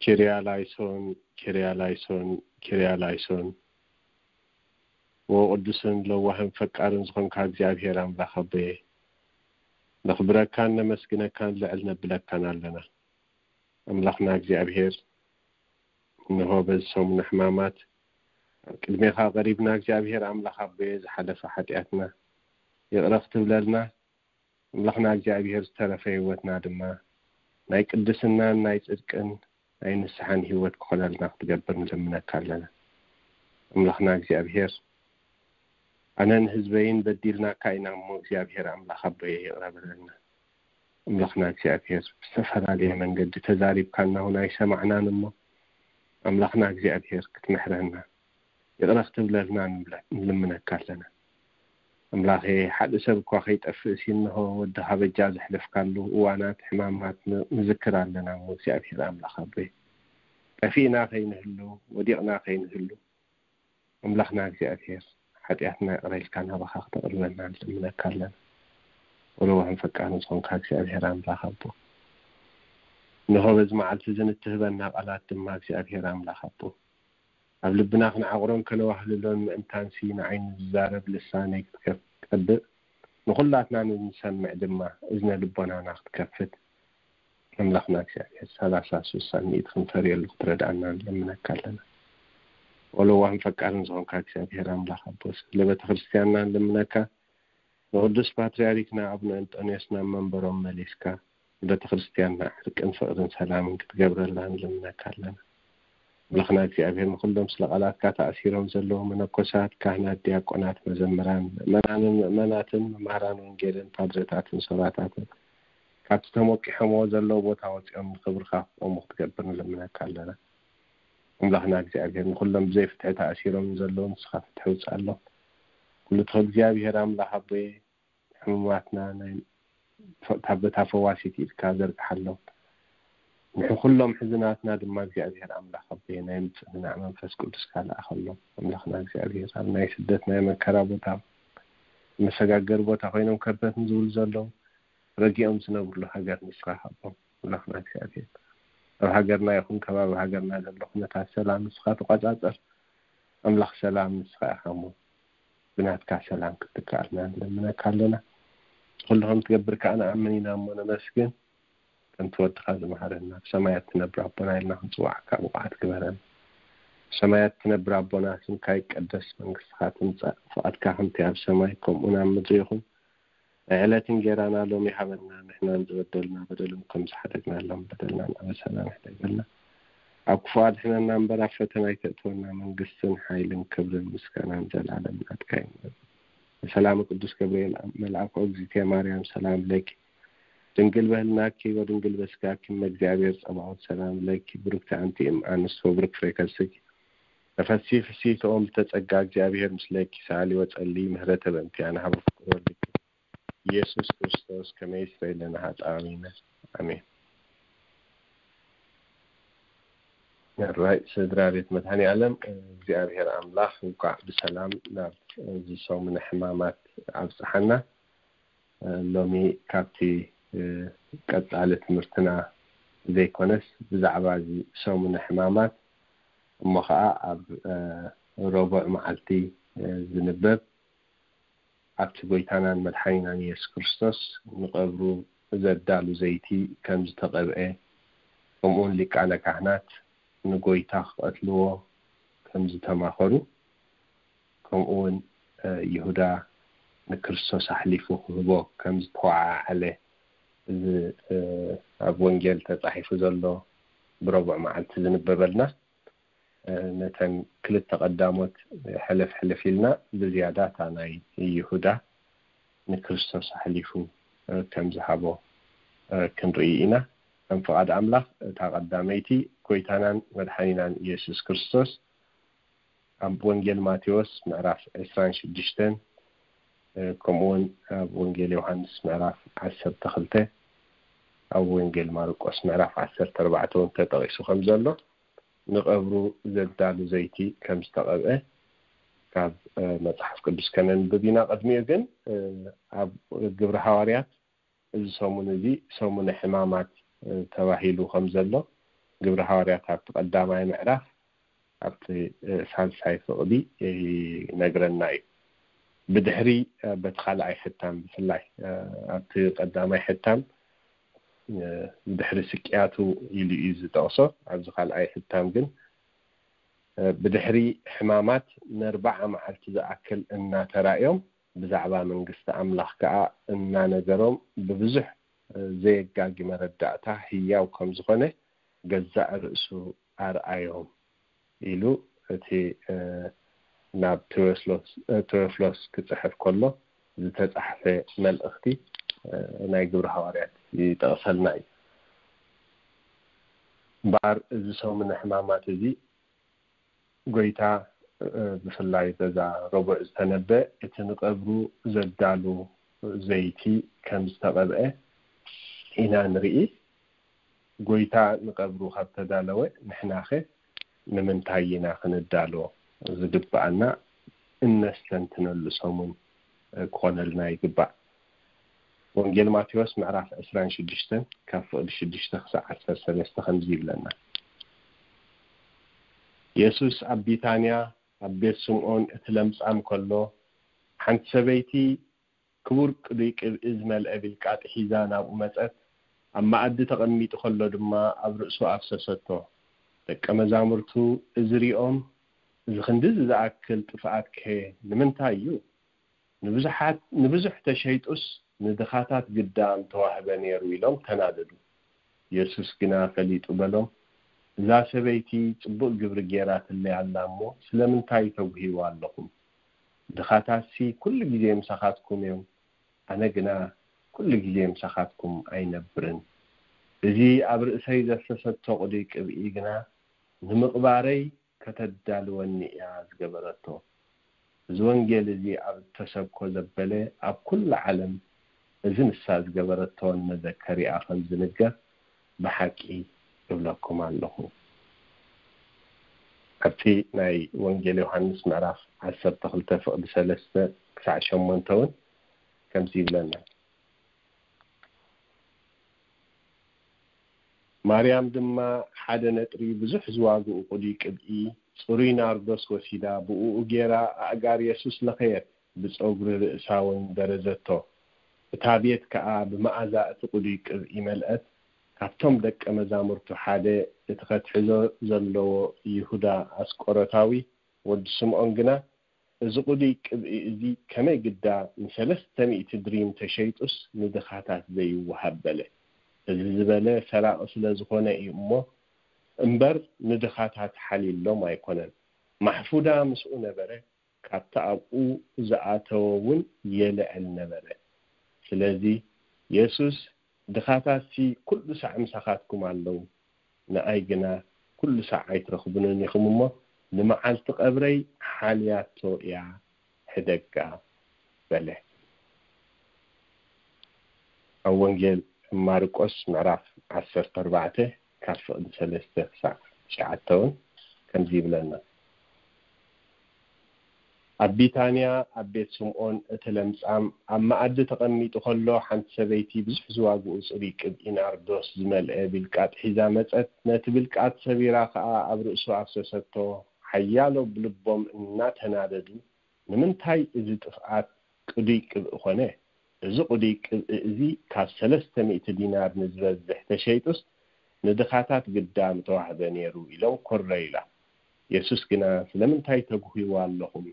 ኪርያ ላይሶን፣ ኪርያ ላይሶን፣ ኪርያ ላይሶን። ወቅዱስን ለዋህን ፈቃርን ዝኾንካ እግዚኣብሔር ኣምላኽ ኣቦየ፣ ነኽብረካን ነመስግነካን ልዕል ነብለካን ኣለና። ኣምላኽና እግዚኣብሔር፣ እንሆ በዚ ሰሙነ ሕማማት ኣብ ቅድሜኻ ቀሪብና፣ እግዚኣብሔር ኣምላኽ ኣቦየ፣ ዝሓለፈ ሓጢኣትና ይቕረ ክትብለልና፣ ኣምላኽና እግዚኣብሔር፣ ዝተረፈ ህይወትና ድማ ናይ ቅድስናን ናይ ጽድቅን ናይ ንስሓን ህይወት ክኾነልና ክትገብር ንልምነካ ኣለና። ኣምላኽና እግዚኣብሔር፣ ኣነን ህዝበይን በዲልናካ ኢና እሞ፣ እግዚኣብሔር ኣምላኽ ኣቦየ፣ ይቕረ በለልና። ኣምላኽና እግዚኣብሔር፣ ብዝተፈላለየ መንገዲ ተዛሪብካና እውን ኣይሰማዕናን እሞ፣ ኣምላኽና እግዚኣብሔር፣ ክትምሕረና፣ ይቕረ ክትብለልና ንብለ-፣ ንልምነካ ኣለና። ኣምላኸ፣ ሓደ ሰብ እኳ ከይጠፍእ ሲ፣ እንሆ ወድኻ በጃ ዘሕለፍካሉ እዋናት ሕማማት ን-፣ ንዝክር ኣለና እሞ፣ እግዚኣብሔር ኣምላኽ ኣቦይ፣ ጠፊእና ከይንህሉ፣ ወዲቕና ከይንህሉ፣ ኣምላኽና እግዚኣብሔር፣ ሓጢኣትና ይቕረ ኢልካ ናባኻ ክተቕርበና ንልምነካ ኣለና። ወለዋህን ፈቃርን ዝኾንካ እግዚኣብሔር ኣምላኽ ኣቦ፣ እንሆ በዚ መዓልቲ እዚ ንትህበና ቃላት ድማ እግዚኣብሔር ኣምላኽ ኣቦ፣ ኣብ ልብና ክንዓቕሮን ከነዋህልሎን ምእንታንሲ፣ ንዓይ ንዝዛረብ ልሳነይ ክትከፍ-፣ ቀብእ፣ ንኹላትና ንንሰምዕ ድማ እዝነ ልቦናና ክትከፍት፣ ኣምላኽና እግዚኣብሔር፣ ሰላሳ፣ ስሳን ሚእቲ ክንፈርየሉ ክትረድኣና ንለምነካ ኣለና። ወለዋህን ፈቃርን ዝኾንካ እግዚኣብሔር ኣምላኽ ኣቦ፣ ስለ ቤተ ክርስቲያንና ንልምነካ፣ ንቅዱስ ፓትርያርክና ኣቡነ እንጦንዮስ ናብ መንበሮም መሊስካ፣ ንቤተ ክርስቲያንና ዕርቅን ፍቕርን ሰላምን ክትገብረላ ንልምነካ ኣለና። ኣምላኽና እግዚኣብሔር፣ ንኹሎም ስለ ቃላትካ ተኣሲሮም ዘለዉ መነኮሳት፣ ካህናት፣ ዲያቆናት፣ መዘምራን፣ ምእመናንን ምእመናትን፣ መማህራን ወንጌልን ፓድረታትን ሶራታትን፣ ካብቲ ተሞቂሖምዎ ዘለዉ ቦታ ወፂኦም ንኽብርኻ ክቆሙ ክትገብር ንልምነካ ኣለና። ኣምላኽና እግዚኣብሔር፣ ንኹሎም ብዘይ ፍትሒ ተኣሲሮም ዘለዉ ንስኻ ፍትሒ ውፅኣሎም። ኩሉ ትኽእል እግዚኣብሔር ኣምላኽ ኣቦየ፣ ሕሙማትና ናይ ፈ-፣ ካብ በታ ፈዋሲት ኢድካ ዘርግሓሎም። ንሕኩሎም ሕዝናትና ድማ እግዚኣብሔር ኣምላኽ ኣቦየ፣ ናይ ምጽንናዕ መንፈስ ቅዱስካ ለኣኸሎም። ኣምላኽና እግዚኣብሔር፣ ኣብ ናይ ስደት ናይ መከራ ቦታ፣ መሰጋገሪ ቦታ ኮይኖም ከበት ንዝብሉ ዘለዉ፣ ረጊኦም ዝነብርሉ ሃገር ንስኻ ሃቦም። ኣምላኽና እግዚኣብሔር፣ ኣብ ሃገርና ይኹን ከባቢ ሃገርና ዘሎ ኩነታት ሰላም ንስኻ ተቆጻጸር። ኣምላኽ ሰላም ንስኻ ኢኻ እሞ፣ ብናትካ ሰላም ክትከኣልና ንለምነካ ኣለና። ኩሉ ከም ትገብር ከኣ ንኣምን ኢና እሞ ነመስግን። ከምቲ ወድኻ ዝመሃረና፣ ብሰማያት ትነብር ኣቦና ኢልና ክንጽዋዓካ ብቑዓት ግበረና። ብሰማያት ትነብር ኣቦና፣ ስምካ ይቀደስ፣ መንግስትኻ ትምጻእ፣ ፍቓድካ ከምቲ ኣብ ሰማይ ከምኡ ኣብ ምድሪ ይኹን። ናይ ዕለት እንጌራና ሎሚ ሃበና፣ ንሕናን ዝበደሉና በደሎም ከም ዝሓደግናሎም በደልናን ኣበሳናን ሕደገልና። ኣብ ክፉእ ኣድሕነና እምበር፣ ኣብ ፈተና ኣይተእትወና፣ መንግስትን ሓይልን ክብርን ምስጋናን ዘላለም ናትካ እዩ። ሰላም ቅዱስ ገብርኤል መልኣኩ፣ እግዝእትየ ማርያም ሰላም ለኪ፣ ድንግል በህልናኪ ወድንግል በስጋኪ፣ እመ እግዚኣብሔር ጸባኦት ሰላም ለኪ፣ ብሩክቲ ኣንቲ እም ኣንስት ወብሩክ ፍሬ ከርስኪ፣ ተፈሲ ፍስሕቲ ኦም ዝተጸጋ፣ እግዚኣብሔር ምስለኪ፣ ሰኣሊ ወጸሊ ምህረተ በእንቲኣና ሀበ ፍቁር ወልድኪ ኢየሱስ ክርስቶስ ከመ ይስረይ ለነ ኃጣውኢነ። ኣሜን። ራይ ስድራ ቤት መድኃኔ ዓለም፣ እግዚኣብሔር ኣምላኽ እንኳዕ ብሰላም ናብ እዚ ሰሙነ ሕማማት ኣብጽሓና። ሎሚ ካብቲ ቀጻሊ ትምህርትና ዘይኮነስ ብዛዕባ እዚ ሰሙነ ሕማማት እሞ ኸዓ ኣብ ረቡዕ መዓልቲ ዝንበብ ኣብቲ ጐይታናን መድሓኒናን ኢየሱስ ክርስቶስ ንቐብሩ ዘዳሉ ዘይቲ ከም ዝተቐብአ፣ ከምኡውን ሊቃነ ካህናት ንጐይታ ክቐትልዎ ከም ዝተማኸሩ፣ ከምኡውን ይሁዳ ንክርስቶስ ኣሕሊፉ ክህቦ ከም ዝተወዓዓለ፣ እዚ ኣብ ወንጌል ተጻሒፉ ዘሎ ብረቡዕ መዓልቲ ዝንበበልና፣ ነተን ክልተ ቀዳሞት ሕልፍ ሕልፍ ኢልና ብዝያዳ እታ ናይ ይሁዳ ንክርስቶስ ኣሕሊፉ ከም ዝሃቦ ክንርኢ ኢና። ከም ፍቓድ ኣምላኽ እታ ቀዳመይቲ ጐይታናን መድሓኒናን ኢየሱስ ክርስቶስ ኣብ ወንጌል ማቴዎስ ምዕራፍ ዕስራን ሽዱሽተን፣ ከምኡውን ኣብ ወንጌል ዮሃንስ ምዕራፍ ዓሰርተ ክልተ፣ ኣብ ወንጌል ማርቆስ ምዕራፍ ዓሰርተ ኣርባዕተ እውን ተጠቒሱ ከም ዘሎ፣ ንቐብሩ ዘዳሉ ዘይቲ ከም ዝተቐብአ ካብ መጽሓፍ ቅዱስ ከነንብብ ኢና። ቅድሚኡ ግን ኣብ ግብሪ ሃዋርያት እዚ ሰሙን እዚ ሰሙነ ሕማማት ተባሂሉ ከም ዘሎ ግብሪ ሃዋርያት ኣብቲ ቀዳማይ ምዕራፍ ኣብቲ ሳልሳይ ፍቕዲ ይነግረና እዩ። ብድሕሪ በቲ ካልኣይ ሕታም ብፍላይ ኣብቲ ቀዳማይ ሕታም ብድሕሪ ስቅያቱ ኢሉ እዩ ዝጠቕሶ። ኣብዚ ካልኣይ ሕታም ግን ብድሕሪ ሕማማት ነርባዓ መዓልቲ ዝኣክል እናተራእዮም ብዛዕባ መንግስቲ ኣምላኽ ከኣ እናነገሮም ብብዙሕ ዘየጋጊ መረዳእታ ህያው ከም ዝኾነ ገዛእ ርእሱ ኣርኣዮም ኢሉ እቲ ናብ ቴዎፍሎስ ክጽሕፍ ከሎ ዝተጻሕፈ መልእኽቲ ናይ ግብሪ ሃዋርያት ይጠቕሰልና እዩ። እምበኣር እዚ ሰሙነ ሕማማት እዚ ጎይታ ብፍላይ በዛ ረቡዕ ዝተነበ እቲ ንቐብሩ ዘዳሉ ዘይቲ ከም ዝተቐብአ ኢና ንርኢ። ጎይታ ንቐብሩ ካብ ተዳለወ ንሕናኸ ንምንታይ ኢና ክንዳሎ ዝግብኣና እነስተንትነሉ ሰሙን ክኾነልና ይግባእ። ወንጌል ማቴዎስ ምዕራፍ ዕስራን ሽዱሽተን ካብ ፍቕዲ ሽዱሽተ ክሳዕ ዓሰርተ ሰለስተ ከምዚ ይብለና። የሱስ ኣብ ቢታንያ ኣብ ቤት ስምዖን እቲ ለምጻም ከሎ ሓንቲ ሰበይቲ ክቡር ቅዱይ ቅብኢ ዝመልአ ቢልቃጥ ሒዛ ናብኡ መጸት። ኣብ መኣዲ ተቐሚጡ ከሎ ድማ ኣብ ርእሱ ኣፍሰሰቶ። ደቀ መዛሙርቱ እዚ ሪኦም እዚ ክንድዚ ዝኣክል ጥፍኣት ከ ንምንታይ እዩ? ንብዙሓት ንብዙሕ ተሸይጡስ ንድኻታት ግዳ ምተዋህበ ነይሩ ኢሎም ተናደዱ። የሱስ ግና ፈሊጡ በሎም፣ እዛ ሰበይቲ ጽቡቕ ግብሪ ጌራትለይ ኣላ እሞ ስለምንታይ ተጉህይዋ ኣለኹም? ድኻታትሲ ኩሉ ግዜ ምሳኻትኩም እዮም፣ ኣነ ግና ኩሉ ግዜ ምሳኻትኩም ኣይነብርን። እዚ ኣብ ርእሰይ ዘፍሰሰቶ ቅዱይ ቅብኢ ግና ንምቕባረይ ከተዳልወኒ እያ ዝገበረቶ። እዚ ወንጌል እዚ ኣብ እተሰብኮ ዘበለ ኣብ ኩሉ ዓለም እዚ ንሳ ዝገበረቶ ንመዘከሪኣ ከም ዝንገር ብሓቂ እብለኩም ኣለኹ። ኣብቲ ናይ ወንጌል ዮሃንስ ምዕራፍ ዓሰርተ ክልተ ፍቕዲ ሰለስተ ክሳዕ ሸሞንተ እውን ከምዚ ይብለና። ማርያም ድማ ሓደ ነጥሪ ብዙሕ ዝዋግኡ ቅዱይ ቅብኢ ጽሩይ ናርዶስ ወሲዳ ብእኡ ጌራ ኣእጋር የሱስ ለኸየት፣ ብጸጉሪ ርእሳ እውን በረዘቶ። እታ ቤት ከኣ ብመኣዛ እቲ ቅዱይ ቅብኢ መልአት። ካብቶም ደቀ መዛሙርቱ ሓደ እቲ ከትሕዞ ዘለዎ ይሁዳ ኣስቆሮታዊ ወዲ ስምዖን ግና እዚ ቅዱይ ቅብኢ እዚ ከመይ ግዳ ንሰለስተ ሚእቲ ድሪም ተሸይጡስ ንድኻታት ዘይወሃብ በለ። እዚ ዝበለ ሰራቒ ስለ ዝኾነ እዩ እሞ እምበር ንድኻታት ሓልዩሎም ኣይኮነን። ማሕፉዳ ምስኡ ነበረ፣ ካብቲ ኣብኡ ዝኣተወ እውን የልዕል ነበረ። ስለዚ የሱስ ድኻታትሲ ኩሉ ሳዕ ምሳኻትኩም ኣለዉ፣ ንኣይ ግና ኩሉ ሳዕ ኣይትረኽቡንን ኢኹም እሞ ንመዓልቲ ቀብረይ ሓልያቶ እያ ሕደጋ በለ። ኣብ ወንጌል ማርቆስ ምዕራፍ ዓሰርተ ኣርባዕተ ካብ ፍቕዲ ሰለስተ ክሳዕ ትሽዓተ እውን ከምዚ ይብለና። ኣብ ቢታንያ ኣብ ቤት ስምዖን እቲ ለምጻም ኣብ መኣዲ ተቐሚጡ ከሎ ሓንቲ ሰበይቲ ብዙሕ ዝዋግኡ ጽሩይ ቅብኢ ናርዶስ ዝመልአ ቢልቃጥ ሒዛ መጸት። ነቲ ቢልቃጥ ሰቢራ ከኣ ኣብ ርእሱ ኣፍሰሰቶ። ሓያሎ ብልቦም እናተናደዱ ንምንታይ እዚ ጥፍኣት ቅዱይ ቅብኢ ኾነ? እዚ ቅዱይ ቅብኢ እዚ ካብ ሰለስተ ሚእቲ ዲናር ንዝበዝሕ ተሸይጡስ ንድኻታት ግዳ ምተዋህበ ነይሩ ኢሎም ኮረዩላ። የሱስ ግና ስለምንታይ ተጉህይዋ ኣለኹም?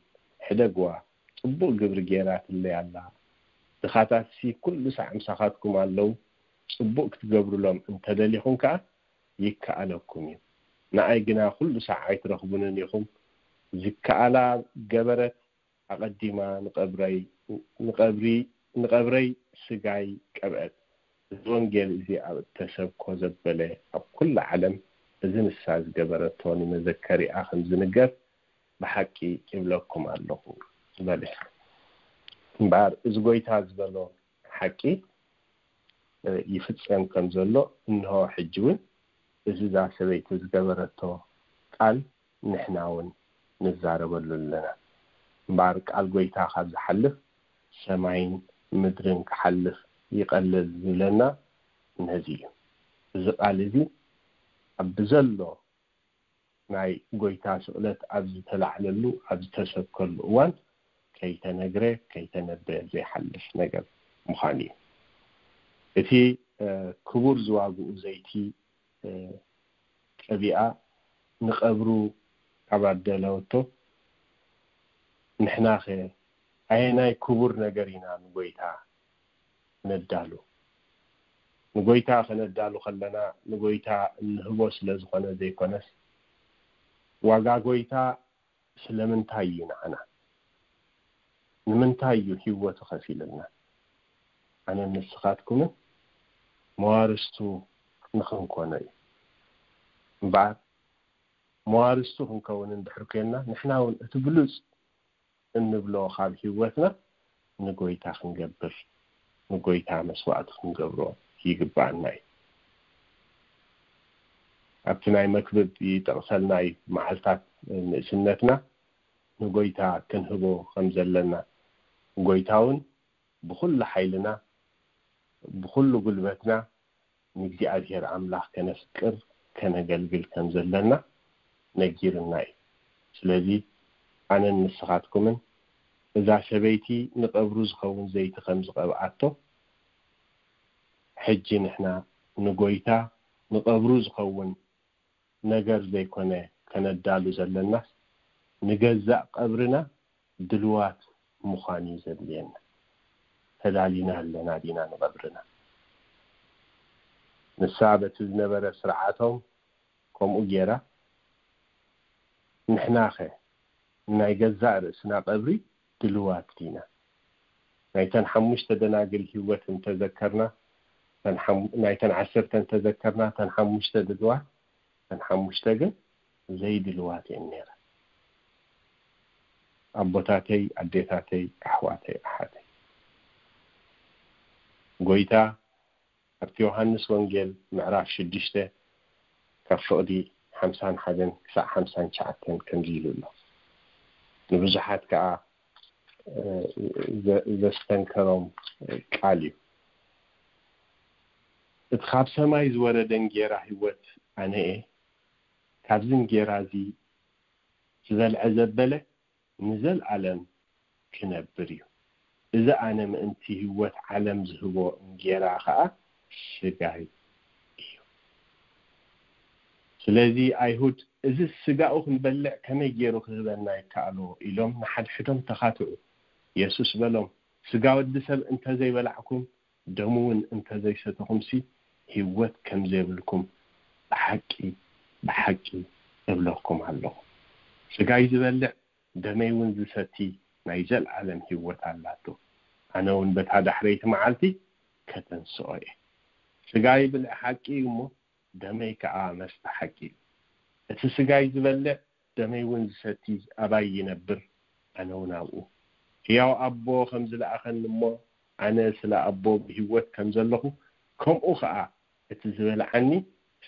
ሕደግዋ፣ ጽቡቕ ግብሪ ጌራትለይ ኣላ። ድኻታትሲ ኩሉ ሳዕ ምሳኻትኩም ኣለዉ። ጽቡቕ ክትገብሩሎም እንተደሊኹም ከኣ ይከኣለኩም እዩ። ንኣይ ግና ኩሉ ሳዕ ኣይትረኽቡንን ኢኹም። ዝከኣላ ገበረት ኣቐዲማ ንቐብረይ ንቐብሪ ንቐብረይ ስጋይ ቀብአት። እዚ ወንጌል እዚ ኣብ እተሰብኮ ዘበለ ኣብ ኩሉ ዓለም እዚ ንሳ ዝገበረቶ ንመዘከሪኣ ከም ዝንገር ብሓቂ ይብለኩም ኣለኹ በለ። እምበኣር እዚ ጎይታ ዝበሎ ሓቂ ይፍጸም ከም ዘሎ እንሆ ሕጂ እውን እዚ እዛ ሰበይቲ ዝገበረቶ ቃል ንሕና እውን ንዛረበሉ ኣለና። እምበኣር ቃል ጎይታ ካብ ዝሓልፍ ሰማይን ምድርን ክሓልፍ ይቐልል ዝብለና ነዚ እዩ። እዚ ቃል እዚ ብዘሎ ናይ ጎይታ ስቕለት ኣብ ዝተላዕለሉ ኣብ ዝተሰብከሉ እዋን ከይተነግረ ከይተነበየ ዘይሓልፍ ነገር ምዃኑ እዩ። እቲ ክቡር ዝዋግኡ ዘይቲ ቀቢኣ ንቐብሩ ካብ ኣደለወቶ፣ ንሕናኸ ኣየናይ ክቡር ነገር ኢና ንጎይታ ነዳሉ? ንጎይታ ከነዳሉ ከለና ንጎይታ እንህቦ ስለ ዝኾነ ዘይኮነስ፣ ዋጋ ጎይታ ስለምንታይ እዩ ንዓና? ንምንታይ እዩ ህይወቱ ከፊልልና? ኣነን ንስኻትኩምን መዋርስቱ ንኽንኮኖ እዩ። እምበኣር መዋርስቱ ክንከውን እንድሕር ኮይንና፣ ንሕና እውን እቲ ብሉጽ እንብሎ ካብ ህይወትና ንጎይታ ክንገብር፣ ንጎይታ መስዋዕቲ ክንገብሮ ይግብኣና እዩ። ኣብቲ ናይ መክብብ ይጠቕሰልና እዩ፣ መዓልታት ንእስነትና ንጎይታ ክንህቦ ከም ዘለና። ጎይታ እውን ብኹሉ ሓይልና፣ ብኹሉ ጉልበትና ንእግዚኣብሔር ኣምላኽ ከነፍቅር፣ ከነገልግል ከም ዘለና ነጊርና እዩ። ስለዚ ኣነን ንስኻትኩምን እዛ ሰበይቲ ንቐብሩ ዝኸውን ዘይቲ ከም ዝቐብኣቶ፣ ሕጂ ንሕና ንጎይታ ንቐብሩ ዝኸውን ነገር ዘይኮነ ከነዳሉ ዘለናስ፣ ንገዛእ ቀብርና ድልዋት ምዃን እዩ ዘድልየና። ተዳሊና ኣለና ዲና ንቐብርና? ንሳ በቲ ዝነበረ ስርዓቶም ከምኡ ገይራ፣ ንሕናኸ ንናይ ገዛእ ርእስና ቀብሪ ድልዋት ዲና? ናይተን ሓሙሽተ ደናግል ህይወት እንተዘከርና፣ እተን ሓሙ-፣ ናይተን ዓሰርተ እንተዘከርና፣ እተን ሓሙሽተ ድልዋት፣ እተን ሓሙሽተ ግን ዘይድልዋት እየን ነይረን። ኣቦታተይ፣ ኣዴታተይ፣ ኣሕዋተይ፣ ኣሓተይ፣ ጎይታ ኣብቲ ዮሃንስ ወንጌል ምዕራፍ ሽዱሽተ ካብ ፍቕዲ ሓምሳን ሓደን ክሳዕ ሓምሳን ትሽዓተን ከምዚ ኢሉ ኣሎ። ንብዙሓት ከኣ፣ እ፣ ዘ-፣ ዘስተንከሮም ቃል እዩ። እቲ ካብ ሰማይ ዝወረደ እንጌራ ህይወት ኣነ እየ። ካብዚ እንጌራ እዚ ዝበልዐ ዘበለ ንዘልኣለም ክነብር እዩ። እዚ ኣነ ምእንቲ ህይወት ዓለም ዝህቦ እንጌራ ኸኣ ስጋይ እዩ። ስለዚ ኣይሁድ፣ እዚ ስጋኡ ክንበልዕ ከመይ ገይሩ ክህበና ይከኣሎ? ኢሎም ንሓድሕዶም ተኻትዑ። የሱስ በሎም፣ ስጋ ወዲ ሰብ እንተዘይበላዕኩም፣ ደሙ እውን እንተዘይሰተኹምሲ፣ ህይወት ከም ዘይብልኩም ብሓቂ፣ ብሓቂ እብለኩም ኣለኹ። ስጋይ ዝበልዕ፣ ደመይ እውን ዝሰቲ ናይ ዘልኣለም ህይወት ኣላቶ። ኣነ እውን በታ ዳሕረይቲ መዓልቲ ከተንስኦ እየ። ስጋይ ብልዒ ሓቂ እዩ እሞ፣ ደመይ ከኣ መስተ ሓቂ እዩ። እቲ ስጋይ ዝበልዕ፣ ደመይ እውን ዝሰቲ ኣባይ ይነብር፣ ኣነ እውን ኣብኡ። ህያው ኣቦ ከም ዝለኣኸኒ እሞ፣ ኣነ ስለ ኣቦ ብህይወት ከም ዘለኹ፣ ከምኡ ኸኣ እቲ ዝበልዓኒ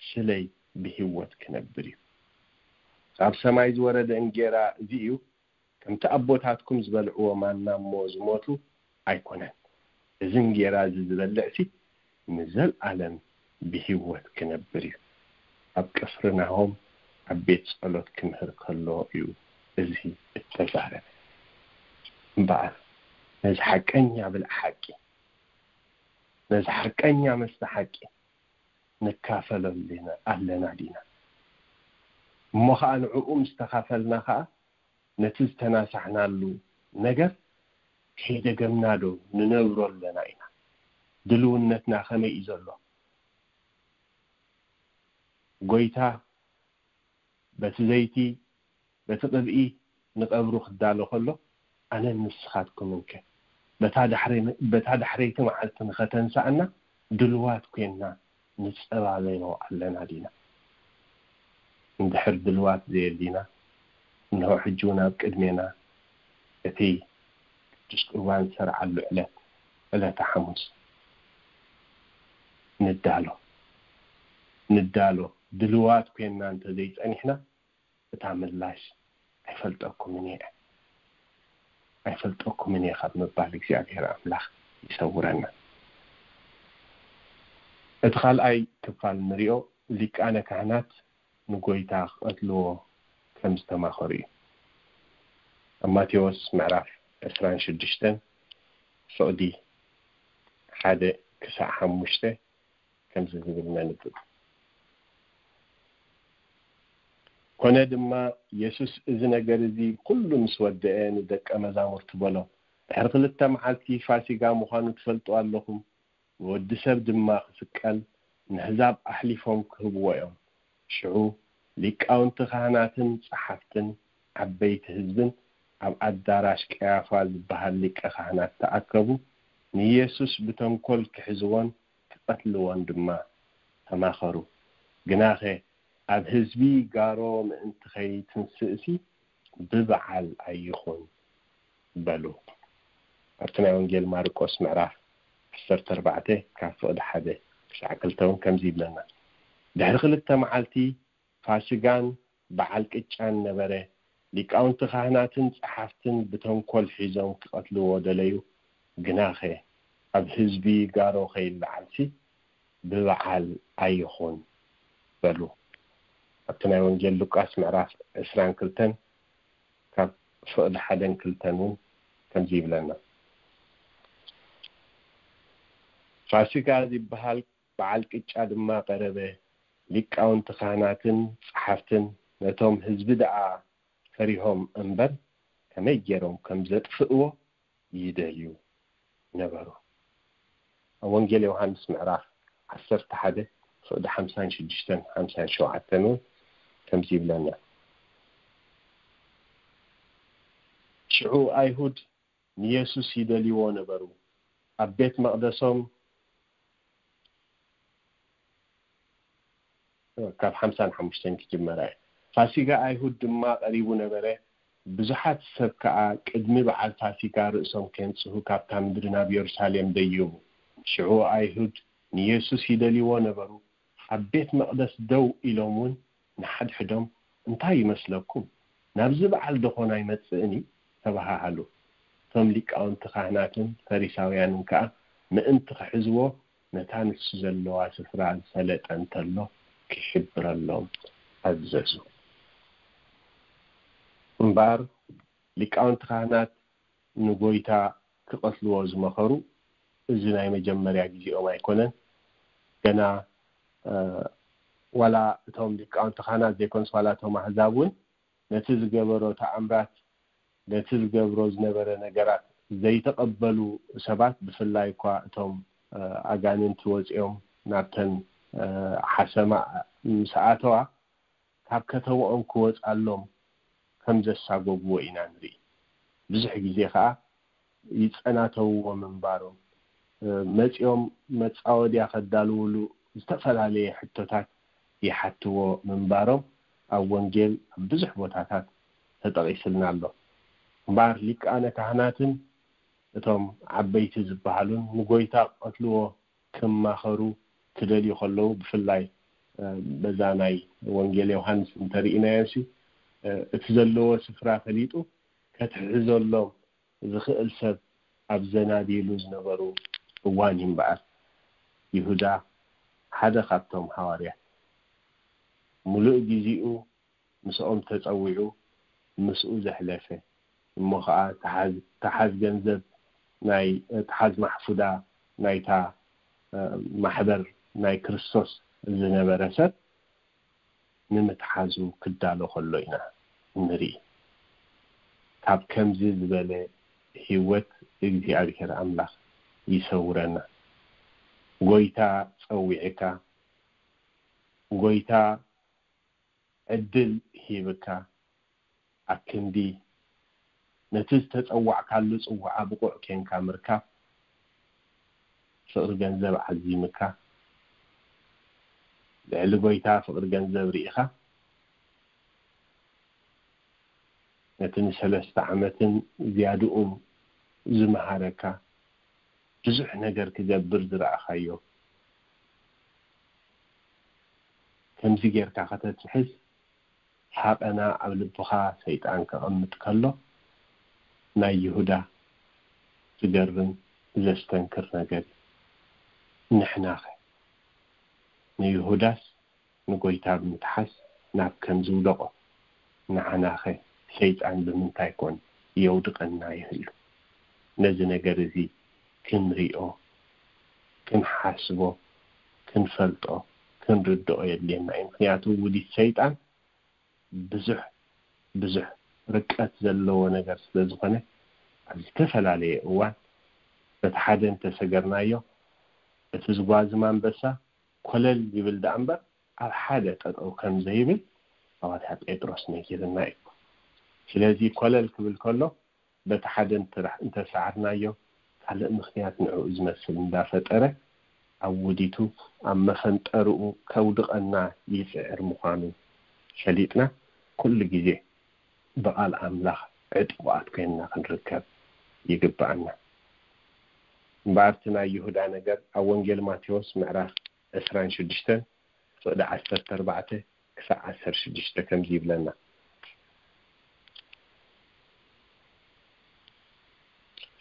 ስለይ ብህይወት ክነብር እዩ። ካብ ሰማይ ዝወረደ እንጌራ እዚ እዩ። ከምቲ ኣቦታትኩም ዝበልዕዎ ማና እሞ ዝሞቱ ኣይኮነን። እዚ እንጌራ እዚ ዝበልዕሲ ንዘልኣለም ብህይወት ክነብር እዩ። ኣብ ቅፍርናሆም ኣብ ቤት ጸሎት ክምህር ከሎ እዩ እዚ እተዛረበ። እምበኣር ነዚ ሓቀኛ ብልዒ ሓቂ፣ ነዚ ሓቀኛ መስተ ሓቂ ንካፈለሉ ኣለና ዲና? እሞ ኸኣ ንዕኡ ምስ ተኻፈልና ኸኣ ነቲ ዝተናሳሕናሉ ነገር ከይደገምና ዶ ንነብሮ ኣለና ኢና? ድልውነትና ከመይ እዩ ዘሎ? ጎይታ በቲ ዘይቲ፣ በቲ ቅብኢ ንቐብሩ ክዳሎ ከሎ፣ ኣነን ንስኻትኩምን ከ በታ ዳሕረ-፣ በታ ዳሕረይቲ መዓልቲ ንኸተንስኣና ድልዋት ኮይንና ንጸባበዮ ኣለና ዲና? እንድሕር ድልዋት ዘየሊና፣ እንሆ ሕጂ እውን ኣብ ቅድሜና እቲ ቅዱስ ቁርባን ዝሰርዓሉ ዕለት፣ ዕለተ ሓሙስ፣ ንዳሎ፣ ንዳሎ። ድልዋት ኮይንና እንተዘይጸኒሕና፣ እታ ምላሽ ኣይፈልጠኩምን እየ፣ ኣይፈልጠኩምን እየ ካብ ምባል እግዚኣብሔር ኣምላኽ ይሰውረና። እቲ ካልኣይ ክፋል ንሪኦ፣ ሊቃነ ካህናት ንጎይታ ክቐትልዎ ከም ዝተማኸሩ እዩ። ኣብ ማቴዎስ ምዕራፍ ዕስራን ሽዱሽተን ፍቕዲ ሓደ ክሳዕ ሓሙሽተ ከምዚ ዝብል ነንብብ። ኮነ ድማ የሱስ እዚ ነገር እዚ ኩሉ ምስ ወደአ ንደቀ መዛሙርቱ በሎ፣ ድሕሪ ክልተ መዓልቲ ፋሲጋ ምዃኑ ትፈልጡ ኣለኹም፣ ንወዲ ሰብ ድማ ክስቀል ንህዛብ ኣሕሊፎም ክህብዎ እዮም። ሽዑ ሊቃውንቲ ካህናትን ጸሓፍትን ዓበይቲ ህዝብን ኣብ ኣዳራሽ ቀያፋ ዝበሃል ሊቀ ካህናት ተኣከቡ፣ ንየሱስ ብተንኮል ክሕዝዎን ክቐትልዎን ድማ ተማኸሩ። ግናኸ ኣብ ህዝቢ ጋሮ ምእንቲ ከይትንስእሲ ብበዓል ኣይኹን በሉ። ኣብቲ ናይ ወንጌል ማርቆስ ምዕራፍ ዓሰርተ ኣርባዕተ ካብ ፍቕዲ ሓደ ክሳዕ ክልተ እውን ከምዚ ይብለና። ድሕሪ ክልተ መዓልቲ ፋሲጋን በዓል ቅጫን ነበረ። ሊቃውንቲ ካህናትን ጸሓፍትን ብተንኮል ሒዞም ክቐትልዎ ደለዩ። ግናኸ ኣብ ህዝቢ ጋሮ ከይለዓልሲ ብበዓል ኣይኹን በሉ። ኣብቲ ናይ ወንጌል ሉቃስ ምዕራፍ ዕስራን ክልተን ካብ ፍቕዲ ሓደን ክልተን እውን ከምዚ ይብለና። ፋሲጋ ዝበሃል በዓል ቅጫ ድማ ቀረበ። ሊቃውንቲ ካህናትን ጸሓፍትን ነቶም ህዝቢ ደኣ ፈሪሆም እምበር ከመይ ገይሮም ከም ዘጥፍእዎ ይደልዩ ነበሩ። ኣብ ወንጌል ዮሃንስ ምዕራፍ ዓሰርተ ሓደ ፍቕዲ ሓምሳን ሽዱሽተን ሓምሳን ሸውዓተን እውን ከምዚ ይብለና። ሽዑ ኣይሁድ ንየሱስ ይደልይዎ ነበሩ። ኣብ ቤት መቕደሶም ካብ ሓምሳን ሓሙሽተን ክጅመራ እየ። ፋሲጋ ኣይሁድ ድማ ቀሪቡ ነበረ። ብዙሓት ሰብ ከኣ ቅድሚ በዓል ፋሲጋ ርእሶም ኬንጽሁ ካብታ ምድሪ ናብ የሩሳሌም ደየቡ። ሽዑ ኣይሁድ ንየሱስ ይደልይዎ ነበሩ። ኣብ ቤት መቕደስ ደው ኢሎም እውን ንሓድሕዶም፣ "እንታይ ይመስለኩም? ናብዚ በዓል ዶ ኾን ኣይመጽእን እዩ?" ተባሃሃሉ። እቶም ሊቃውንቲ ካህናትን ፈሪሳውያንን ከኣ ምእንቲ ክሕዝዎ ነታ ንሱ ዘለዋ ስፍራ ዝፈለጠ እንተሎ ክሕብረሎም ኣዘዙ። እምበኣር ሊቃውንቲ ካህናት ንጎይታ ክቐትልዎ ዝመኸሩ እዚ ናይ መጀመርያ ግዜኦም ኣይኮነን። ገና፣ እ፣ ዋላ እቶም ሊቃውንቲ ካህናት ዘይኮኑስ ዋላ እቶም ኣህዛብ እውን ነቲ ዝገበሮ ተኣምራት፣ ነቲ ዝገብሮ ዝነበረ ነገራት ዘይተቐበሉ ሰባት፣ ብፍላይ እኳ እቶም፣ እ፣ ኣጋንንቲ ወጺኦም ናብተን፣ እ፣ ሓሰማ ምስ ኣተዋ፣ ካብ ከተማኦም ክወጻሎም ከም ዘሳጎግዎ ኢና ንርኢ። ብዙሕ ግዜ ከኣ ይጸናተውዎ ምንባሮም፣ እ፣ መጺኦም መጻወድያ ከዳልውሉ ዝተፈላለየ ሕቶታት ይሓትዎ ምንባሮም ኣብ ወንጌል ኣብ ብዙሕ ቦታታት ተጠቒስልና ኣሎ። እምበኣር ሊቃነ ካህናትን እቶም ዓበይቲ ዝበሃሉን ንጎይታ ክቐትልዎ ክማኸሩ ክደልዩ ከለዉ፣ ብፍላይ፣ እ፣ በዛ ናይ ወንጌል ዮሃንስ እንተርኢናዮሲ፣ እ፣ እቲ ዘለዎ ስፍራ ፈሊጡ ከትሕዘሎም ዝኽእል ሰብ ኣብ ዘናድይሉ ዝነበሩ እዋን እዩ። እምበኣር ይሁዳ ሓደ ካብቶም ሃዋርያት፣ ምሉእ ግዜኡ ምስኦም ተጸዊዑ ምስኡ ዘሕለፈ፣ እሞ ኸኣ ተሓዝ፣ ተሓዝ ገንዘብ ናይ፣ ተሓዝ ማሕፉዳ ናይታ፣ እ፣ ማሕበር ናይ ክርስቶስ ዝነበረ ሰብ ንምትሓዙ ክዳሎ ከሎ ኢና ንርኢ። ካብ ከምዚ ዝበለ ህይወት እግዚኣብሔር ኣምላኽ ይሰውረና። ጎይታ ጸዊዕካ፣ ጎይታ ዕድል ሂብካ፣ ኣክንዲ ነቲ ዝተጸዋዕካሉ ጽውዓ ብቑዕ ኬንካ ምርካብ፣ ፍቕሪ ገንዘብ ዓዚምካ፣ ልዕሊ ጎይታ ፍቕሪ ገንዘብ ርኢኻ፣ ነቲ ንሰለስተ ዓመትን ዝያድኡን ዝመሃረካ፣ ብዙሕ ነገር ክገብር ዝረኣኻዮ፣ ከምዚ ጌርካ ከተትሕዝ ሃቐና ኣብ ልብኻ ሰይጣን ከቐምጥ ከሎ፣ ናይ ይሁዳ ዝገርም ዘስተንክር ነገር እዩ። ንሕናኸ ንይሁዳስ ንጎይታ ብምትሓዝ ናብ ከም ዝውደቖ፣ ንዓናኸ ሰይጣን ብምንታይ ኮን የውድቐና ይህሉ? ነዚ ነገር እዚ ክንሪኦ፣ ክንሓስቦ፣ ክንፈልጦ፣ ክንርድኦ የድልየና እዩ። ምክንያቱ ውዲት ሰይጣን ብዙሕ ብዙሕ ርቀት ዘለዎ ነገር ስለ ዝኾነ፣ ኣብ ዝተፈላለየ እዋን በቲ ሓደ እንተሰገርናዮ፣ እቲ ዝጓዝም ኣንበሳ ኮለል ይብል ደኣ እምበር ኣብ ሓደ ጠጠው ከም ዘይብል ሃዋርያ ጴጥሮስ ነጊርና እዩ። ስለዚ ኮለል ክብል ከሎ በቲ ሓደ እንተ-፣ እንተሰዓርናዮ፣ ካልእ ምኽንያት ንዕኡ ዝመስል እንዳፈጠረ ኣብ ውዲቱ ኣብ መፈንጠርኡ ከውድቐና ይጽዕር ምዃኑ ፈሊጥና፣ ኩሉ ግዜ ብቓል ኣምላኽ ዕጡቓት ኮይንና ክንርከብ ይግብኣና። እምበኣር እቲ ናይ ይሁዳ ነገር ኣብ ወንጌል ማቴዎስ ምዕራፍ ዕስራን ሽዱሽተን ፍቕዲ ዓሰርተ ኣርባዕተ ክሳዕ ዓሰርተ ሽዱሽተ ከምዚ ይብለና።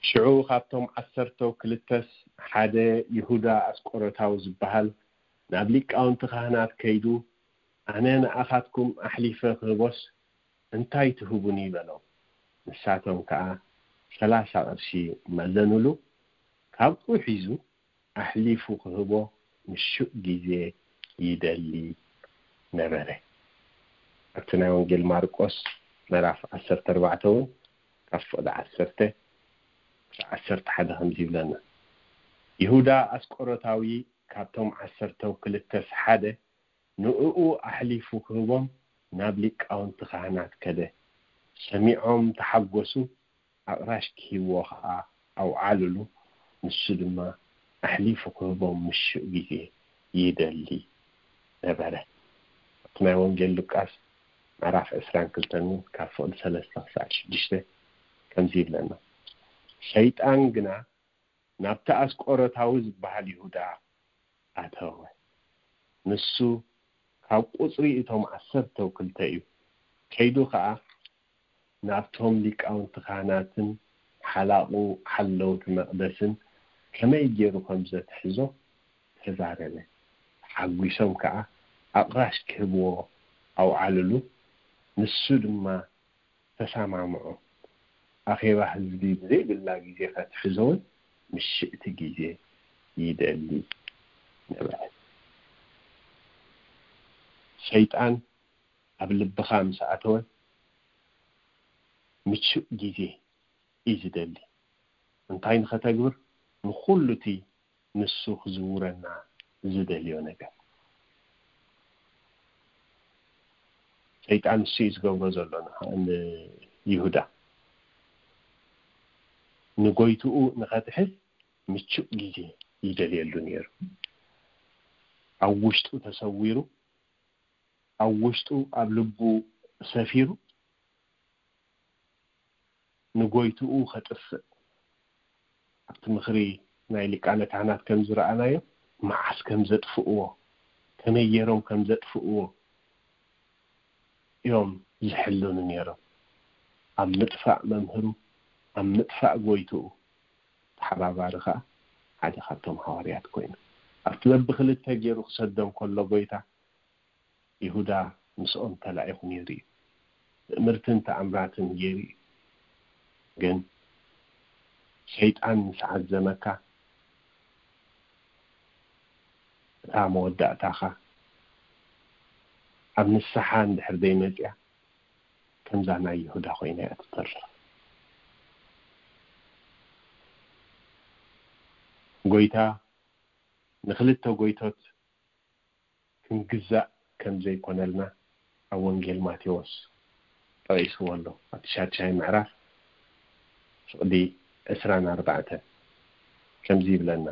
ሽዑ ካብቶም ዓሰርተው ክልተስ ሓደ ይሁዳ ኣስቆሮታዊ ዝበሃል ናብ ሊቃውንቲ ካህናት ከይዱ፣ "ኣነ ንኣኻትኩም ኣሕሊፈ ክህቦስ እንታይ ትህቡኒ?" በሎም። ንሳቶም ከኣ ሰላሳ ቅርሺ መዘኑሉ። ካብኡ ሒዙ ኣሕሊፉ ክህቦ ምሹእ ግዜ ይደሊ ነበረ። ኣብቲ ናይ ወንጌል ማርቆስ ምዕራፍ ዓሰርተ ኣርባዕተ እውን ካብ ፍቕዲ ዓሰርተ ክሳዕ ዓሰርተ ሓደ ከምዚ ይብለና። ይሁዳ ኣስቆሮታዊ ካብቶም ዓሰርተው ክልተስ ሓደ ንእኡ ኣሕሊፉ ክህቦም ናብ ሊቃውንቲ ካህናት ከደ። ሰሚዖም ተሓጎሱ፣ ኣቕራሽ ክህብዎ ኸዓ ኣውዓሉሉ። ንሱ ድማ ኣሕሊፉ ክህቦም ምሹእ ግዜ ይደሊ ነበረ። ኣብቲ ናይ ወንጌል ሉቃስ ምዕራፍ ዕስራን ክልተን እውን ካብ ፍቕዲ ሰለስተ ክሳዕ ሽዱሽተ ከምዚ ይብለና። ሰይጣን ግና ናብቲ ኣስቆሮታዊ ዝበሃል ይሁዳ ኣተወ። ንሱ ካብ ቁጽሪ እቶም ዓሰርተው ክልተ እዩ። ከይዱ ኸኣ ናብቶም ሊቃውንቲ ካህናትን ሓላቑ ሓለውቲ መቕደስን ከመይ ገይሩ ከም ዘትሕዞ ተዛረበ። ተሓጒሶም ከኣ ኣቕራሽ ክህብዎ ኣውዓሉሉ። ንሱ ድማ ተሰማምዑ። ኣኼባ ህዝቢ ብዘይብላ ግዜ ከትሕዞ እውን ምሽእቲ ግዜ ይደሊ ነበረ። ሰይጣን ኣብ ልብኻ ምስ ኣተወ ምቹእ ግዜ እዩ ዝደሊ። እንታይ ንኸተግብር? ንኹሉ እቲ ንሱ ክዝውረና ዝደልዮ ነገር። ሰይጣን ንሱ እዩ ዝገብሮ ዘሎ ንኻ-፣ ንይሁዳ። ንጎይትኡ ንኸትሕዝ ምቹእ ግዜ ይደልየሉ ነይሩ። ኣብ ውሽጡ ተሰዊሩ፣ ኣብ ውሽጡ፣ ኣብ ልቡ ሰፊሩ፣ ንጎይትኡ ከጥፍእ። ኣብቲ ምኽሪ ናይ ሊቃነ ካህናት ከም ዝረኣናዮ፣ መዓስ ከም ዘጥፍእዎ፣ ከመይ ገይሮም ከም ዘጥፍእዎ እዮም ዝሕልኑ ነይሮም። ኣብ ምጥፋእ መምህሩ፣ ኣብ ምጥፋእ ጎይትኡ ተሓባባሪ ኸኣ ሓደ ካብቶም ሃዋርያት ኮይኑ። ኣብቲ በብኽልተ ገይሩ ክሰዶም ከሎ ጎይታ፣ ይሁዳ ምስኦም ተላኢኹ ነይሩ እዩ። ትእምርትን ተኣምራትን ገይሩ እዩ። ግን ሰይጣን ምስ ዓዘመካ፣ እታ መወዳእታኻ ኣብ ንስሓ እንድሕር ዘይመጽያ፣ ከምዛ ናይ ይሁዳ ኮይና እያ ትተርፍ። ጎይታ ንኽልተ ጎይቶት ክንግዛእ ከም ዘይኮነልና ኣብ ወንጌል ማቴዎስ ጠቒስዎ ኣሎ። ኣብቲ ሻድሻይ ምዕራፍ ፍቕዲ ዕስራን ኣርባዕተን ከምዚ ይብለና፣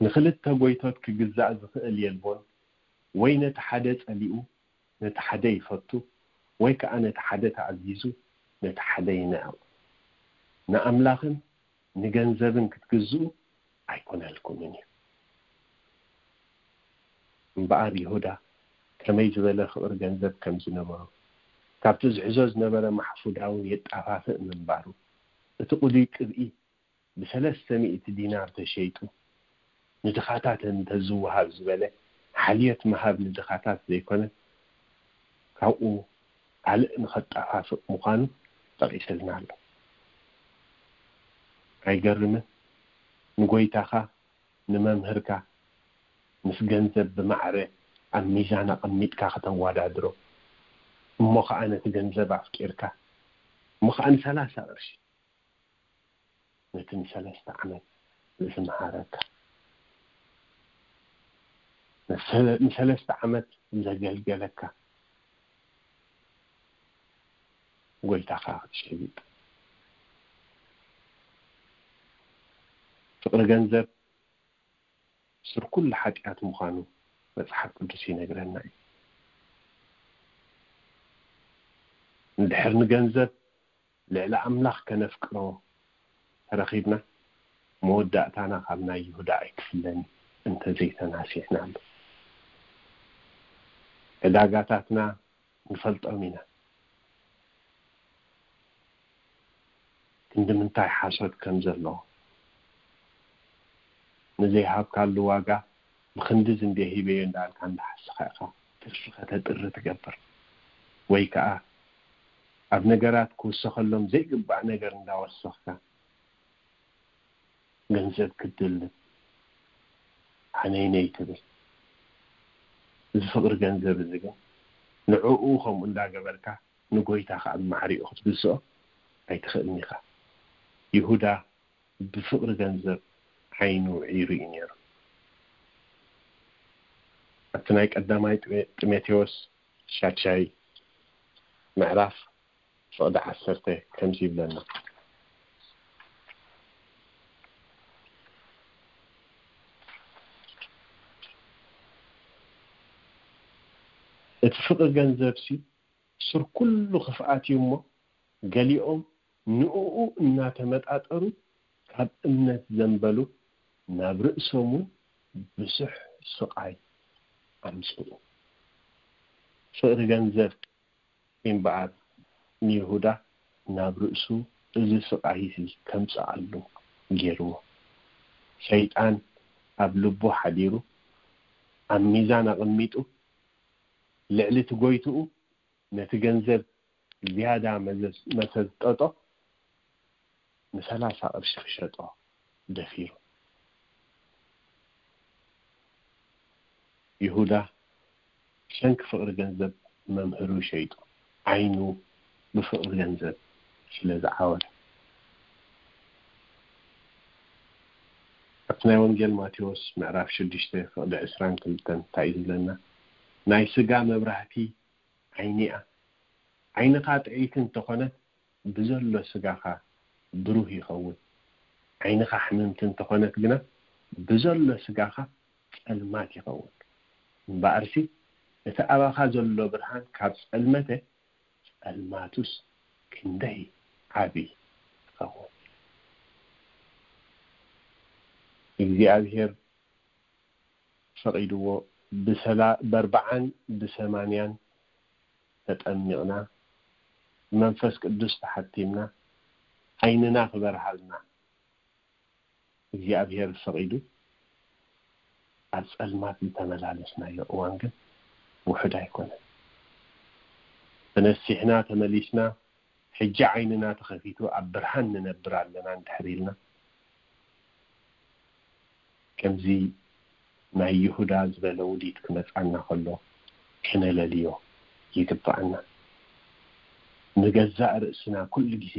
"ንኽልተ ጎይቶት ክግዛእ ዝኽእል የልቦን፣ ወይ ነቲ ሓደ ጸሊኡ ነቲ ሓደ ይፈቱ፣ ወይ ከኣ ነቲ ሓደ ተኣዚዙ ነቲ ሓደ ይንዕቕ። ንኣምላኽን ንገንዘብን ክትግዝኡ ኣይኮነልኩምን እዩ።" እምበኣር ይሁዳ ከመይ ዝበለ ፍቕሪ ገንዘብ ከም ዝነበሮ፣ ካብቲ ዝሕዞ ዝነበረ ማሕፉዳ እውን የጣፋፍእ ምንባሩ፣ እቲ ቅዱይ ቅብኢ ብሰለስተ ሚእቲ ዲናር ተሸይጡ ንድኻታት እንተዝወሃብ ዝበለ ሓልዮት ምሃብ ንድኻታት ዘይኮነ፣ ካብኡ ካልእ ንኸጠፋፍእ ምዃኑ ጠቒስልና ኣሎ። ኣይገርምን? ንጎይታኻ፣ ንመምህርካ ምስ ገንዘብ ብማዕረ ኣብ ሚዛን ኣቐሚጥካ ከተወዳድሮ፣ እሞ ኸዓ ነቲ ገንዘብ ኣፍቂርካ፣ እሞ ኸዓ ንሰላሳ ቅርሺ ነቲ ንሰለስተ ዓመት ዝመሃረካ፣ ንሰለ-፣ ንሰለስተ ዓመት ዘገልገለካ ጎይታኻ ክትሸይጥ። ፍቕሪ ገንዘብ ሱር ኩሉ ሓጢኣት ምዃኑ መጽሓፍ ቅዱስ ይነግረና እዩ። እንድሕር ንገንዘብ ልዕሊ ኣምላኽ ከነፍቅሮ ተረኺብና፣ መወዳእታና ካብ ናይ ይሁዳ ኣይክፍለን እንተዘይተናሲሕናሉ። ዕዳጋታትና ንፈልጦም ኢና። ክንዲ ምንታይ ሓሶት ከም ዘለዎ፣ ንዘይሃብካሉ ዋጋ ብኽንድዚ እንድየ ሂበዮ እንዳበልካ እንዳሓሰኻ ኢኻ ትርፊ ከተጥሪ ትገብር። ወይ ከኣ ኣብ ነገራት ክውሰኸሎም ዘይግባእ ነገር እንዳወሰኽካ ገንዘብ ክትድልብ ሓነይነይ ትብል። እዚ ፍቕሪ ገንዘብ እዚ ግን ንዕኡ ከምኡ እንዳገበርካ ንጎይታ ከኣ ብማዕሪኡ ክትግዝኦ ኣይትኽእልን ኢኻ። ይሁዳ ብፍቕሪ ገንዘብ ዓይኑ ዒሩ እዩ ነይሩ። ኣብቲ ናይ ቀዳማይ ጢሜ-፣ ጢሞቴዎስ ሻድሻይ ምዕራፍ ፍቕዲ ዓሰርተ ከምዚ ይብለና። እቲ ፍቕሪ ገንዘብሲ ሱር ኩሉ ክፍኣት እዩ እሞ፣ ገሊኦም ንእኡ እናተመጣጠሩ ካብ እምነት ዘንበሉ፣ ናብ ርእሶም እውን ብዙሕ ስቓይ ኣምጽኡ። ፍቕሪ ገንዘብ እምበኣር ንይሁዳ ናብ ርእሱ እዚ ስቓይ እዚ ከምጽኣሉ ገይርዎ። ሰይጣን ኣብ ልቡ ሓዲሩ፣ ኣብ ሚዛን ኣቐሚጡ፣ ልዕሊ እቲ ጎይትኡ ነቲ ገንዘብ ዝያዳ መዘዝ-፣ መሰጠጦ፣ ንሰላሳ ቅርሺ ክሸጦ ደፊሩ። ይሁዳ ብሰንኪ ፍቕሪ ገንዘብ መምህሩ ሸይጡ፣ ዓይኑ ብፍቕሪ ገንዘብ ስለ ዝዓወረ። ኣብቲ ናይ ወንጌል ማቴዎስ ምዕራፍ ሽዱሽተ ፍቕዲ ዕስራን ክልተን እንታይ እዩ ዝብለና? ናይ ስጋ መብራህቲ ዓይኒ እያ። ዓይንኻ ጥዕይቲ እንተኾነት ብዘሎ ስጋኻ ብሩህ ይኸውን። ዓይንኻ ሕምምቲ እንተኾነት ግና ብዘሎ ስጋኻ ጸልማት ይኸውን። እምበኣርሲ እቲ ኣባኻ ዘሎ ብርሃን ካብ ጸልመተ፣ ጸልማቱስ ክንደይ ዓቢ ይኸውን። እግዚኣብሔር ፈቒድዎ ብሰላ-፣ በርብዓን ብሰማንያን ተጠሚቕና፣ ብመንፈስ ቅዱስ ተሓቲምና፣ ዓይንና ክበርሃልና እግዚኣብሔር ፈቒዱ፣ ኣብ ጸልማት ዝተመላለስናዮ እዋን ግን ውሑድ ኣይኮነን። ተነሲሕና ተመሊስና፣ ሕጂ ዓይንና ተኸፊቱ ኣብ ብርሃን ንነብር ኣለና እንድሕር ኢልና፣ ከምዚ ናይ ይሁዳ ዝበለ ውዲት ክመጻና ከሎ ከነለልዮ ይግባኣና። ንገዛእ ርእስና ኩሉ ግዜ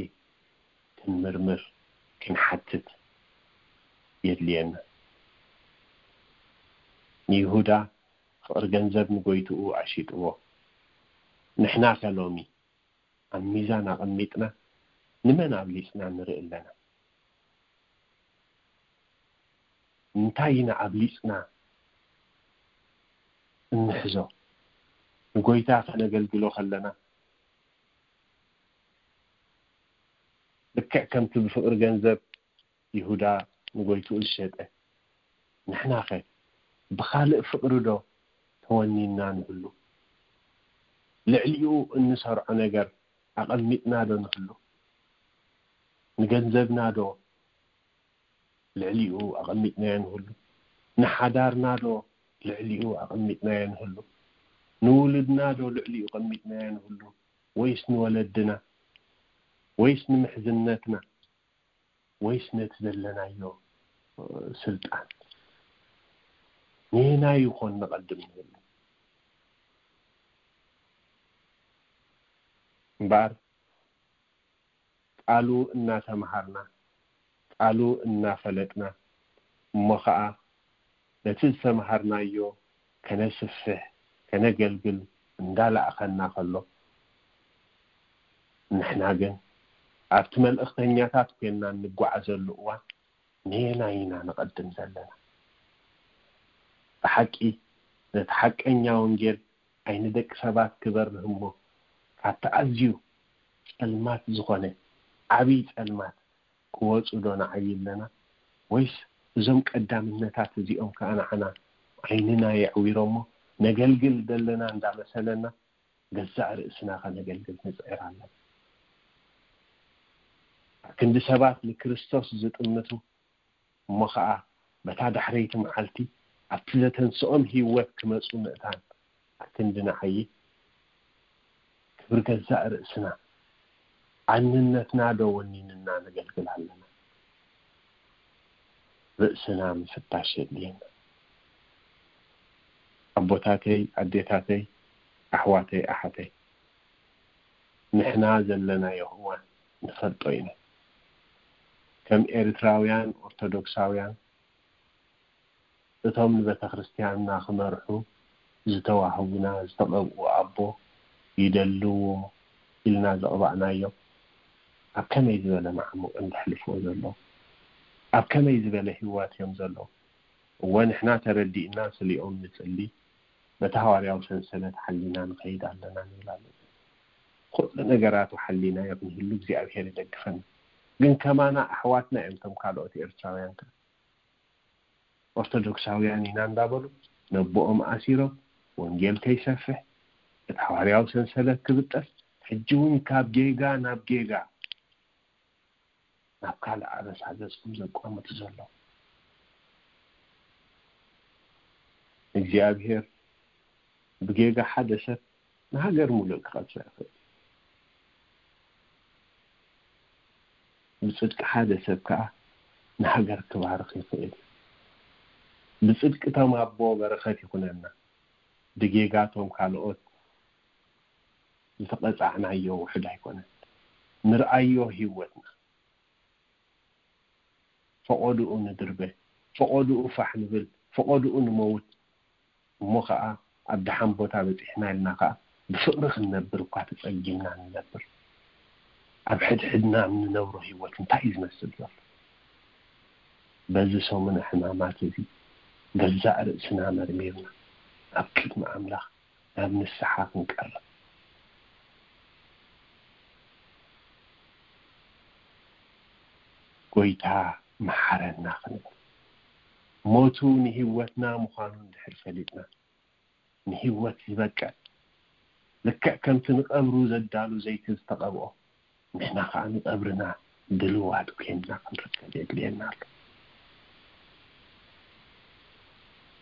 ክንምርምር፣ ክንሓትት የድልየና። ንይሁዳ ፍቕሪ ገንዘብ ንጎይትኡ ኣሽይጥዎ። ንሕናኸ ሎሚ ኣብ ሚዛን ኣቐሚጥና ንመን ኣብሊጽና ንርኢ ኣለና? እንታይ ኢና ኣብሊጽና እንሕዞ? ንጎይታ ከነገልግሎ ከለና፣ ልክዕ ከምቲ ብፍቕሪ ገንዘብ ይሁዳ ንጎይትኡ ዝሸጠ፣ ንሕናኸ ብኻልእ ፍቕሪ ዶ ተወኒንና ንህሉ? ልዕሊኡ እንሰርዖ ነገር ኣቐሚጥና ዶ ንህሉ? ንገንዘብና ዶ ልዕሊኡ ኣቐሚጥናዮ ንህሉ? ንሓዳርና ዶ ልዕሊኡ ኣቐሚጥናዮ ንህሉ? ንውሉድና ዶ ልዕሊኡ ኣቐሚጥናዮ ንህሉ? ወይስ ንወለድና? ወይስ ንምሕዝነትና? ወይስ ነቲ ዘለናዮ ስልጣን? ንየናይ ይኾን ንቐድም ንህሉ? እምበኣር ቃሉ እናተምሃርና፣ ቃሉ እናፈለጥና፣ እሞ ኸዓ ነቲ ዝተምሃርናዮ ከነስፍሕ፣ ከነገልግል እንዳለኣኸና ከሎ፣ ንሕና ግን ኣብቲ መልእኽተኛታት ኮይንና እንጓዓዘሉ እዋን፣ ነየናይ ኢና ንቐድም ዘለና? ብሓቂ ነቲ ሓቀኛ ወንጌል ዓይኒ ደቂ ሰባት ክበርህ እሞ፣ ካብቲ ኣዝዩ ጸልማት ዝኾነ ዓብዪ ጸልማት ክወጹ ዶ ንዓዪ ኣለና? ወይስ እዞም ቀዳምነታት እዚኦም ከኣ ንዓና ዓይንና የዕዊሮሞ፣ ነገልግል ዘለና እንዳመሰለና፣ ገዛእ ርእስና ከነገልግል ንጽዕር ኣለና? ኣብ ክንዲ ሰባት ንክርስቶስ ዝጥምቱ፣ እሞ ኸኣ በታ ዳሕረይቲ መዓልቲ ኣብቲ ዘተንስኦም ህይወት ክመጹ ምእታን፣ ኣክንዲ ንዓዪ ክብሪ ገዛእ ርእስና፣ ኣንነትና ዶ ወኒንና ነገልግል ኣለና? ርእስና ምፍታሽ የድልየና። ኣቦታተይ፣ ኣዴታተይ፣ ኣሕዋተይ፣ ኣሓተይ፣ ንሕና ዘለናዮ እዋን ንፈልጦ ኢና። ከም ኤርትራውያን ኦርቶዶክሳውያን፣ እቶም ንቤተ ክርስቲያንና ክመርሑ ዝተዋህቡና ዝተቐብኡ ኣቦ ይደልዎ ኢልና ዘቕባእናዮም፣ ኣብ ከመይ ዝበለ መዓሙቕ እዮም ዘሕልፍዎ ዘለዉ? ኣብ ከመይ ዝበለ ህይወት እዮም ዘለዉ? እወ፣ ንሕና ተረዲእና ስሊኦም ንጽሊ፣ በቲ ሃዋርያዊ ሰንሰለት ሓሊና ንኸይድ ኣለና ንብል ኣለና። ኩሉ ነገራቱ ሓሊናዮ ክንህሉ እግዚኣብሔር ይደግፈና። ግን ከማና ኣሕዋትና እዮም እቶም ካልኦት ኤርትራውያን ከ። ኦርቶዶክሳውያን ኢና እንዳበሉ ነቦኦም ኣሲሮም፣ ወንጌል ከይሰፍሕ፣ እቲ ሃዋርያዊ ሰንሰለት ክብጠስ፣ ሕጂ እውን ካብ ጌጋ ናብ ጌጋ፣ ናብ ካልእ ኣበሳ ገጾም ዘቋምቱ ዘለዉ። እግዚኣብሔር ብጌጋ ሓደ ሰብ ንሃገር ሙሉእ ክቐጽዕ ይኽእል። ብጽድቂ ሓደ ሰብ ከኣ ንሃገር ክባርኽ ይኽእል። ብጽድቂ እቶም ኣቦ በረኸት ይኹነና፣ ብጌጋ እቶም ካልኦት ዝተቐጻዕናዮ ውሑድ ኣይኮነን። ንርኣዮ ህይወትና። ፈቐድኡ ንድርበ፣ ፈቐድኡ ፋሕ ንብል፣ ፈቐድኡ ንመውት። እሞ ኸኣ ኣብ ደሓን ቦታ በጺሕና ኢልና ኸኣ ብፍቕሪ ክንነብር እኳ ተጸጊምና ንነብር። ኣብ ሕድሕድና እንነብሮ ህይወት እንታይ እዩ ዝመስል ዘሎ? በዚ ሰሙነ ሕማማት እዚ ገዛእ ርእስና መርሚርና ኣብ ቅድሚ ኣምላኽ ናብ ንስሓ ክንቀርብ። ጎይታ መሓረና ክንብል፣ ሞቱ ንህይወትና ምዃኑ እንድሕር ፈሊጥና፣ ንህይወት ዝበቅዕ ልክዕ ከምቲ ንቐብሩ ዘዳሉ ዘይቲ ዝተቐብኦ፣ ንሕና ኸዓ ንቐብርና ድልዋት ኮይንና ክንርከብ የድልየና ኣሎ።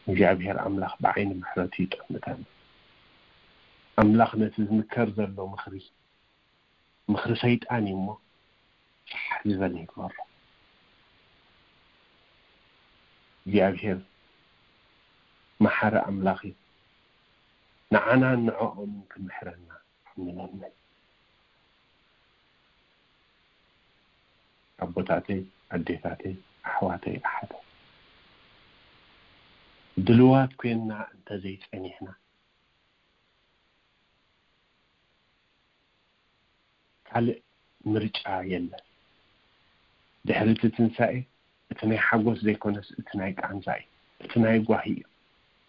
እግዚኣብሔር ኣምላኽ ብዓይኒ ምሕረቱ ይጠምተና። ኣምላኽ ነቲ ዝምከር ዘሎ ምኽሪ፣ ምኽሪ ሰይጣን እዩ እሞ፣ ፋሕ ዝበለ ይግበሮ። እግዚኣብሔር መሓሪ ኣምላኽ እዩ። ንዓናን ንዕኦምን ክምሕረና ንለምን። ኣቦታተይ፣ ኣዴታተይ፣ ኣሕዋተይ፣ ኣሓተይ፣ ድልዋት ኮይንና እንተዘይጸኒሕና፣ ካልእ ምርጫ የለን። ድሕሪ እቲ ትንሳኤ፣ እቲ ናይ ሓጎስ ዘይኮነስ፣ እቲ ናይ ቃንዛ እዩ፣ እቲ ናይ ጓሂ እዩ።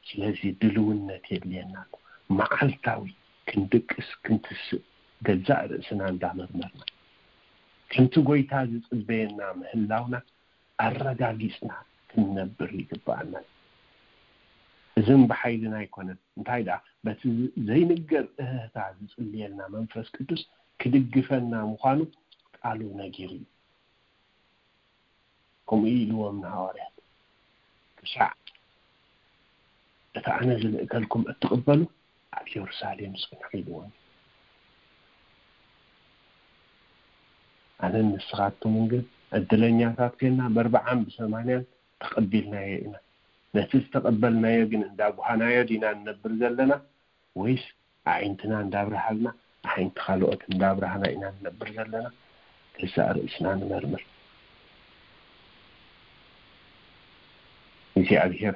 ስለዚ ድልውነት የድልየና ኣሎ። መዓልታዊ ክንድቅስ፣ ክንትስእ፣ ገዛእ ርእስና እንዳመርመርና፣ ከምቲ ጎይታ ዝጽበየና ምህላውና ኣረጋጊጽና ክንነብር ይግብኣና እዩ። እዚ ብሓይልና ኣይኮነን። እንታይ ደኣ፣ በቲ ዘይንገር እህህታ ዝጽልየልና መንፈስ ቅዱስ ክድግፈና ምዃኑ ቃሉ ነጊሩ እዩ። ከምኡ ኢልዎም ንሃዋርያት፣ ክሳዕ እቲ ኣነ ዝልእከልኩም እትቕበሉ ኣብ ኢየሩሳሌም ጽንሑ ኢልዎም። ኣነን ንስኻትኩምን ግን ዕድለኛታት ኮይንና በርብዓን ብሰማንያን ተቐቢልናዮ ኢና። ነቲ ዝተቐበልናዮ ግን እንዳጓሃናዮ ዲና ንነብር ዘለና ወይስ ኣዒንትና እንዳብርሃልና ኣዒንቲ ካልኦት እንዳብርሃና ኢና ንነብር ዘለና? ገዛእ ርእስና ንመርምር። እግዚኣብሔር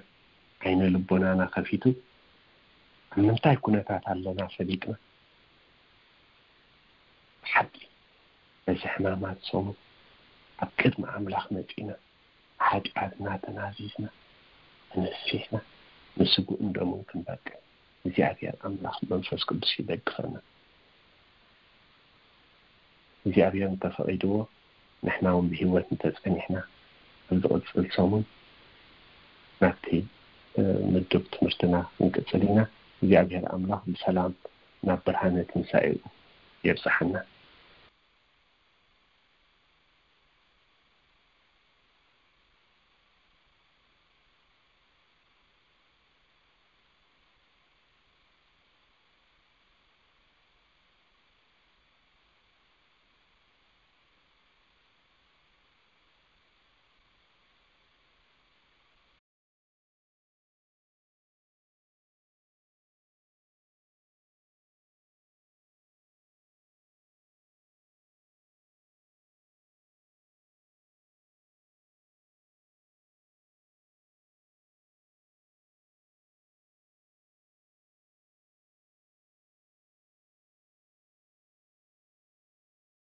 ዓይነ ልቦናና ከፊቱ ኣብ ምንታይ ኩነታት ኣለና ፈሊጥና ብሓቂ በዚ ሕማማት ሰሙን ኣብ ቅድሚ ኣምላኽ መጺና ሓጢኣትና ተናዚዝና ተነሲሕና ንስጉእን ደሙን ክንበቅዕ እግዚኣብሔር ኣምላኽ መንፈስ ቅዱስ ይደግፈና። እግዚኣብሔር እንተፈቒድዎ ንሕና እውን ብህይወት እንተጸኒሕና ኣብ ዝቕጽል ሰሙን ናብቲ ምድብ ትምህርትና ክንቅጽል ኢና። እግዚኣብሔር ኣምላኽ ብሰላም ናብ ብርሃነ ትንሳኤኡ የብጽሓና።